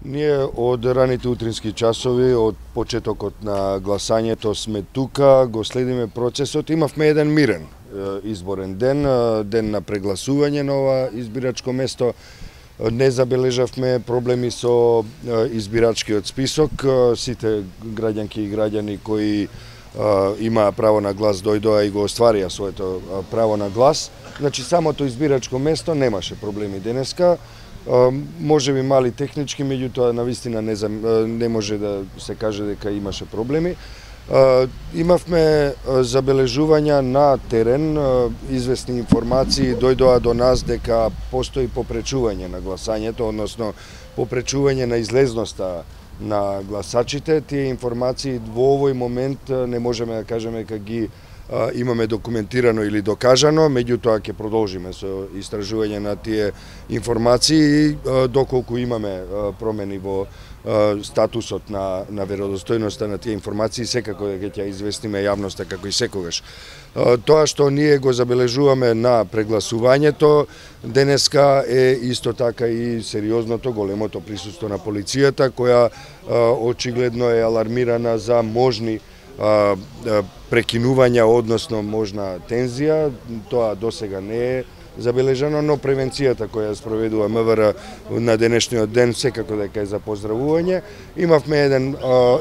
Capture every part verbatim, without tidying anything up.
Ние од раните утрински часови, од почетокот на гласањето сме тука, го следиме процесот. Имавме еден мирен изборен ден, ден на прегласување на ова избирачко место. Не забележавме проблеми со избирачкиот список. Сите граѓанки и граѓани кои имаа право на глас дојдоа и го остварија своето право на глас. Значи, самото избирачко место немаше проблеми денеска. Може би мали технички, меѓутоа навистина не, не може да се каже дека имаше проблеми. Имавме забележувања на терен, известни информации дојдоа до нас дека постои попречување на гласањето, односно попречување на излезноста на гласачите. Тие информации во овој момент не можеме да кажеме дека ги имаме документирано или докажано, меѓутоа ќе продолжиме со истражување на тие информации и доколку имаме промени во статусот на, на веродостојноста на тие информации, секако дека ќе известиме јавноста како и секогаш. Тоа што ние го забележуваме на прегласувањето денеска е исто така и сериозното, големото присуство на полицијата, која очигледно е алармирана за можни прекинувања, односно можна тензија. Тоа досега не е забележано, но превенцијата која спроведува МВР на денешниот ден секако дека е за поздравување. Имавме еден,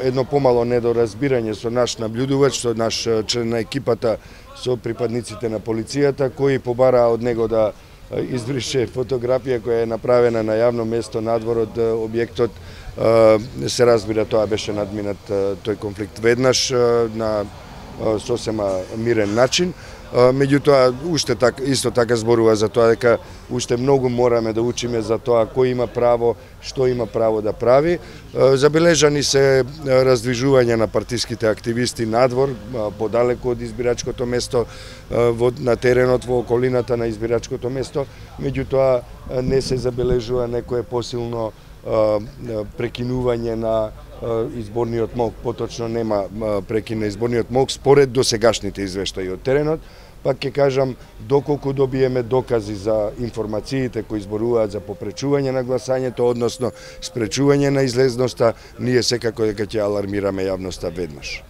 едно помало недоразбирање со наш наблюдувач, со наш член на екипата, со припадниците на полицијата, кои побараа од него да избрише фотографија која е направена на јавно место надвор од објектот. Се разбира, тоа беше надминат тој конфликт веднаш на сосема мирен начин. Меѓутоа, уште так, исто така зборува за тоа дека уште многу мораме да учиме за тоа кој има право, што има право да прави. Забележани се раздвижување на партиските активисти надвор, подалеку од избирачкото место, на теренот во околината на избирачкото место. Меѓутоа, не се забележува некое посилно прекинување на изборниот мок, поточно нема прекин на изборниот мок според досегашните извештаи од теренот. Пак ќе кажам, доколку добиеме докази за информациите кои зборуваат за попречување на гласањето, односно спречување на излезноста, ние секако дека ќе алармираме јавноста веднаш.